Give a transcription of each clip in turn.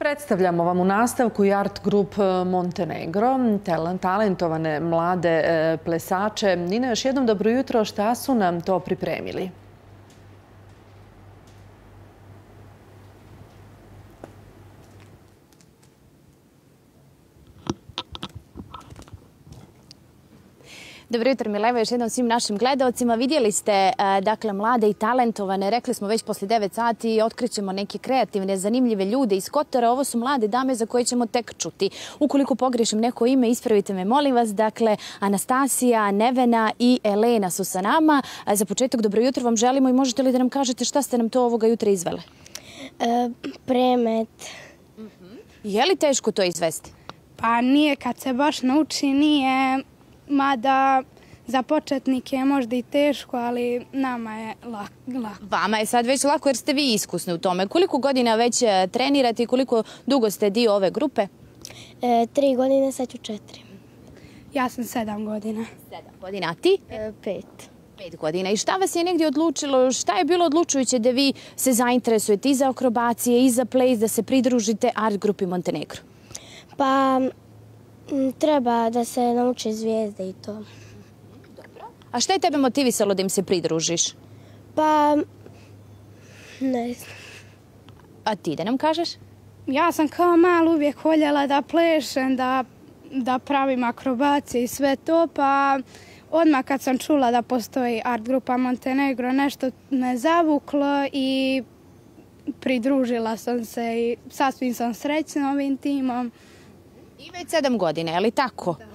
Predstavljamo vam u nastavku i Art Group Montenegro, talentovane mlade plesače. Nina, još jednom dobro jutro, šta su nam to pripremili? Dobro jutro, Mileva, još jednom svim našim gledaocima. Vidjeli ste, dakle, mlade i talentovane, rekli smo već poslije 9 sati, otkrićemo neke kreativne, zanimljive ljude iz Kotora. Ovo su mlade dame za koje ćemo tek čuti. Ukoliko pogrešim neko ime, ispravite me, molim vas. Dakle, Anastasija, Nevena i Elena su sa nama. Za početak, dobro jutro vam želimo i možete li da nam kažete šta ste nam to ovoga jutra izvele? Premet. Je li teško to izvesti? Pa nije, kad se baš nauči, nije. Mada za početnike je možda i teško, ali nama je lako. Vama je sad već lako jer ste vi iskusni u tome. Koliko godina već trenirate i koliko dugo ste dio ove grupe? 3 godine, sad ću 4. Ja sam 7 godina. 7 godina, a ti? 5. 5 godina. I šta vas je negdje odlučilo, šta je bilo odlučujuće da vi se zainteresujete i za akrobacije i za ples, da se pridružite Art grupi Montenegro? Pa treba da se nauče zvijezde i to. Dobro. A šta je tebe motivisalo da im se pridružiš? Pa ne znam. A ti da nam kažeš? Ja sam kao mal uvijek voljela da plešem, da pravim akrobacije i sve to, pa odmah kad sam čula da postoji Art grupa Montenegro, nešto me zavuklo i pridružila sam se i sasvim sam srećna ovim timom. I već 7 godina, je li tako? Da.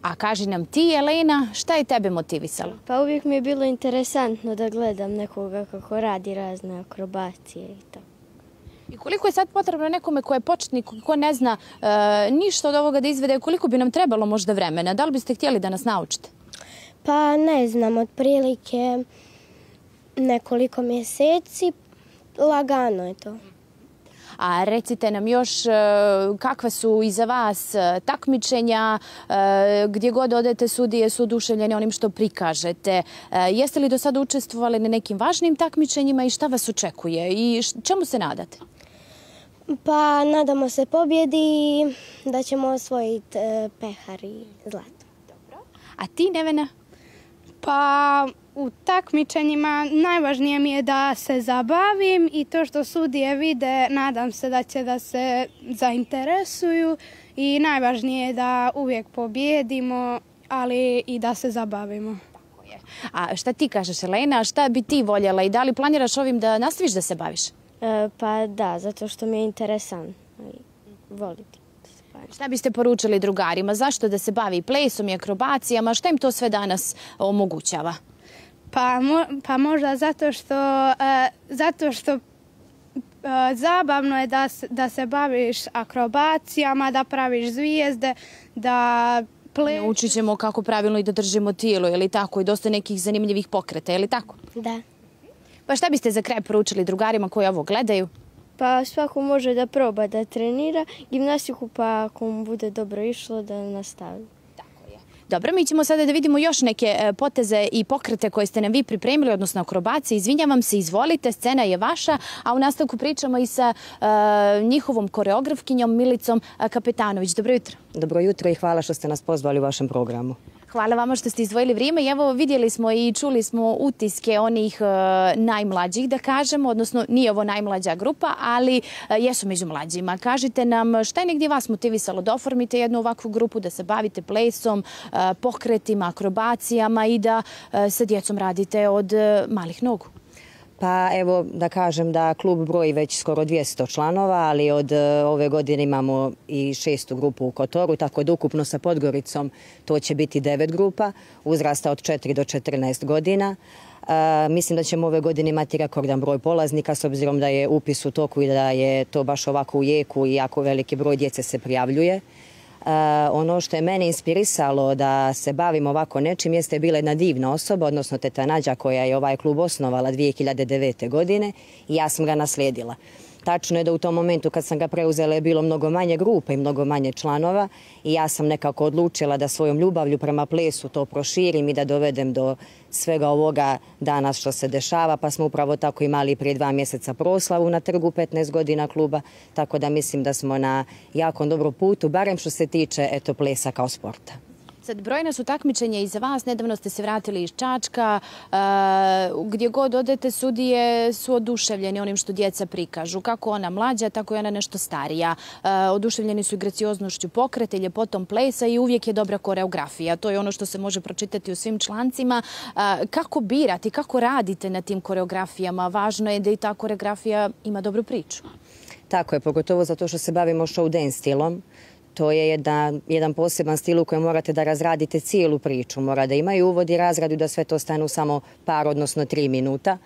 A kaži nam ti, Elena, šta je tebe motivisalo? Pa uvijek mi je bilo interesantno da gledam nekoga kako radi razne akrobacije i to. I koliko je sad potrebno nekome ko je početnik, ko ne zna ništa od ovoga da izvede, koliko bi nam trebalo možda vremena? Da li biste htjeli da nas naučite? Pa ne znam, otprilike nekoliko mjeseci, lagano je to. A recite nam još kakva su iza vas takmičenja, gdje god odete sudije su oduševljene onim što prikažete. Jeste li do sada učestvovali na nekim važnim takmičenjima i šta vas očekuje i čemu se nadate? Pa nadamo se pobjedi i da ćemo osvojiti pehar i zlato. Dobro. A ti, Nevena? Pa u takmičenjima najvažnije mi je da se zabavim i to što sudije vide, nadam se da će da se zainteresuju i najvažnije je da uvijek pobjedimo, ali i da se zabavimo. Tako je. A šta ti kažeš, Elena, šta bi ti voljela i da li planiraš ovim da nastaviš da se baviš? Pa da, zato što mi je interesantno i volim. Šta biste poručili drugarima? Zašto da se bavi plesom i akrobacijama? Šta im to sve danas omogućava? Pa možda zato što zabavno je da se baviš akrobacijama, da praviš zvijezde, da plešeš. Naučit ćemo kako pravilno i da držimo tijelo, je li tako? I dosta nekih zanimljivih pokreta, je li tako? Da. Pa šta biste za kraj poručili drugarima koji ovo gledaju? Pa svako može da proba da trenira gimnastiku, pa ako mu bude dobro išlo da nastavi. Dobro, mi ćemo sada da vidimo još neke poteze i pokrete koje ste nam vi pripremili, odnosno akrobacije. Izvinjavam se, izvolite, scena je vaša, a u nastavku pričamo i sa njihovom koreografkinjom Milicom Kapetanović. Dobro jutro. Dobro jutro i hvala što ste nas pozvali u vašem programu. Hvala vama što ste izdvojili vrijeme i evo vidjeli smo i čuli smo utiske onih najmlađih, da kažemo, odnosno nije ovo najmlađa grupa, ali jesu među mlađima. Kažite nam šta je negdje vas motivisalo da oformite jednu ovakvu grupu, da se bavite plesom, pokretima, akrobacijama i da sa djecom radite od malih nogu? Pa evo da kažem da klub broji već skoro 200 članova, ali od ove godine imamo i 6. grupu u Kotoru, tako da ukupno sa Podgoricom to će biti 9 grupa, uzrasta od 4 do 14 godina. Mislim da ćemo ove godine imati rekordan broj polaznika s obzirom da je upis u toku i da je to baš ovako u jeku i jako veliki broj djece se prijavljuje. Ono što je mene inspirisalo da se bavim ovako nečim jeste bila jedna divna osoba, odnosno teta Nađa koja je ovaj klub osnovala 2009. godine i ja sam ga naslijedila. Tačno je da u tom momentu kad sam ga preuzela je bilo mnogo manje grupa i mnogo manje članova i ja sam nekako odlučila da svojom ljubavlju prema plesu to proširim i da dovedem do svega ovoga danas što se dešava, pa smo upravo tako imali prije 2 mjeseca proslavu na trgu 15 godina kluba, tako da mislim da smo na jako dobrom putu, barem što se tiče plesa kao sporta. Sad, brojna su takmičenja i za vas. Nedavno ste se vratili iz Čačka. Gdje god odete, sudije su oduševljeni onim što djeca prikažu. Kako ona mlađa, tako i ona nešto starija. Oduševljeni su i gracioznošću pokreta i ljepotom plesa i uvijek je dobra koreografija. To je ono što se može pročitati u svim člancima. Kako birati, kako radite na tim koreografijama? Važno je da i ta koreografija ima dobru priču. Tako je, pogotovo zato što se bavimo show dance stilom. To je jedan poseban stil u kojem morate da razradite cijelu priču. Mora da imaju uvod i razradu da sve to stane u samo par, odnosno 3 minuta.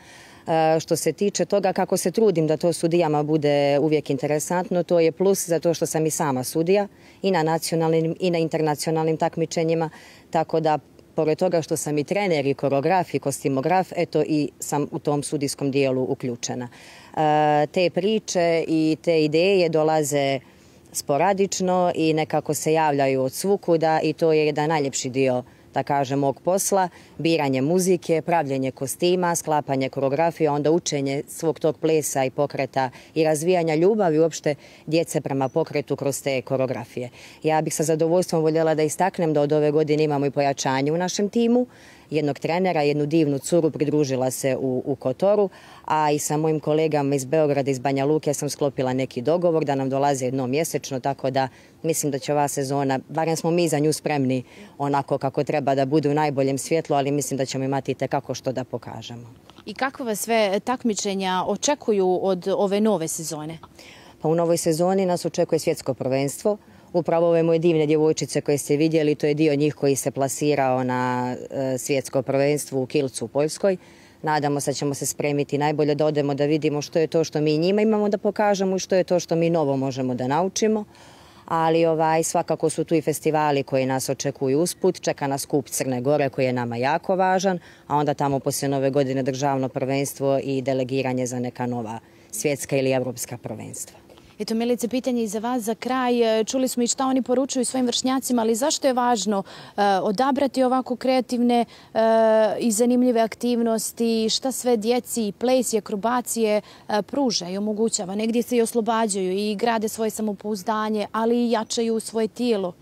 Što se tiče toga kako se trudim da to sudijama bude uvijek interesantno, to je plus zato što sam i sama sudija i na nacionalnim i na internacionalnim takmičenjima, tako da pored toga što sam i trener i koreograf i kostimograf, eto i sam u tom sudijskom dijelu uključena. Te priče i te ideje dolaze sporadično i nekako se javljaju od svukuda i to je jedan najljepši dio, da kažem, mog posla. Biranje muzike, pravljenje kostima, sklapanje koreografije, onda učenje svog tog plesa i pokreta i razvijanja ljubavi uopšte djece prema pokretu kroz te koreografije. Ja bih sa zadovoljstvom voljela da istaknem da od ove godine imamo i pojačanje u našem timu. Jednog trenera, jednu divnu curu pridružila se u Kotoru, a i sa mojim kolegama iz Beograda, iz Banja Luke sam sklopila neki dogovor da nam dolaze jednom mjesečno, tako da mislim da će ova sezona, barem smo mi za nju spremni onako kako treba da bude u najboljem svjetlu, ali mislim da ćemo imati itekako što da pokažemo. I kakva vas sve takmičenja očekuju od ove nove sezone? Pa u novoj sezoni nas očekuje svjetsko prvenstvo. Upravo ove moje divne djevojčice koje ste vidjeli, to je dio njih koji se plasirao na svjetsko prvenstvo u Kilcu u Poljskoj. Nadamo se da ćemo se spremiti najbolje da odemo da vidimo što je to što mi njima imamo da pokažemo i što je to što mi novo možemo da naučimo. Ali svakako su tu i festivali koji nas očekuju usput. Čeka nas skup Crne Gore koji je nama jako važan, a onda tamo poslije nove godine državno prvenstvo i delegiranje za neka nova svjetska ili evropska prvenstva. Eto, Milice, pitanje i za vas za kraj. Čuli smo i šta oni poručuju svojim vršnjacima, ali zašto je važno odabrati ovako kreativne i zanimljive aktivnosti? Šta sve djeci, ples i akrobacije pruža i omogućava? Negdje se i oslobađaju i grade svoje samopouzdanje, ali i jačaju svoje tijelo.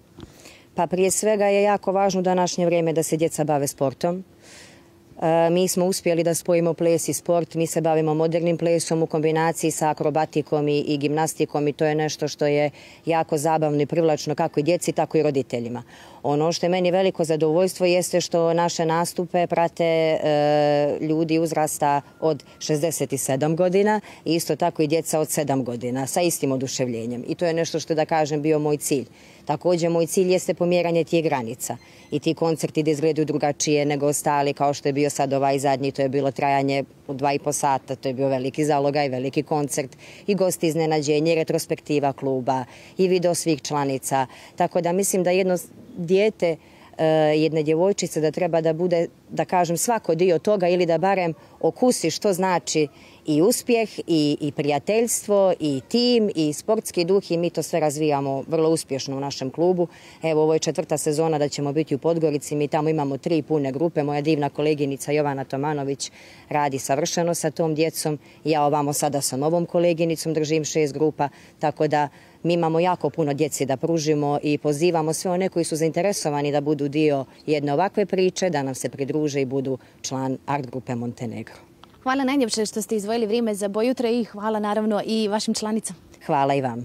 Pa prije svega je jako važno u današnje vrijeme da se djeca bave sportom. Mi smo uspjeli da spojimo ples i sport. Mi se bavimo modernim plesom u kombinaciji sa akrobatikom i gimnastikom i to je nešto što je jako zabavno i privlačno kako i djeci, tako i roditeljima. Ono što je meni veliko zadovoljstvo jeste što naše nastupe prate ljudi uzrasta od 67 godina i isto tako i djeca od 7 godina sa istim oduševljenjem. I to je nešto što, da kažem, bio moj cilj. Također, moj cilj jeste pomjeranje tih granica i ti koncerti da izgledaju drugačije nego ostali, kao što je bio sad ovaj zadnji, to je bilo trajanje od 2,5 sata, to je bio veliki zalogaj, veliki koncert i gosti iznenađenje, i retrospektiva kluba i video svih članica. Tako da mislim da jedno dijete, jedne djevojčice da treba da bude, da kažem, svako dio toga ili da barem okusi što znači i uspjeh i prijateljstvo i tim i sportski duh i mi to sve razvijamo vrlo uspješno u našem klubu. Evo, ovo je 4. sezona da ćemo biti u Podgorici, mi tamo imamo 3 pune grupe. Moja divna koleginica Jovana Tomanović radi savršeno sa tom djecom. Ja ovamo sada sa novom koleginicom držim 6 grupa, tako da mi imamo jako puno djeci da pružimo i pozivamo sve one koji su zainteresovani da budu dio jedne ovakve priče, da nam se pridruže i budu član art grupe Montenegro. Hvala najljepše što ste izdvojili vrijeme za Bojutra i hvala naravno i vašim članicama. Hvala i vama.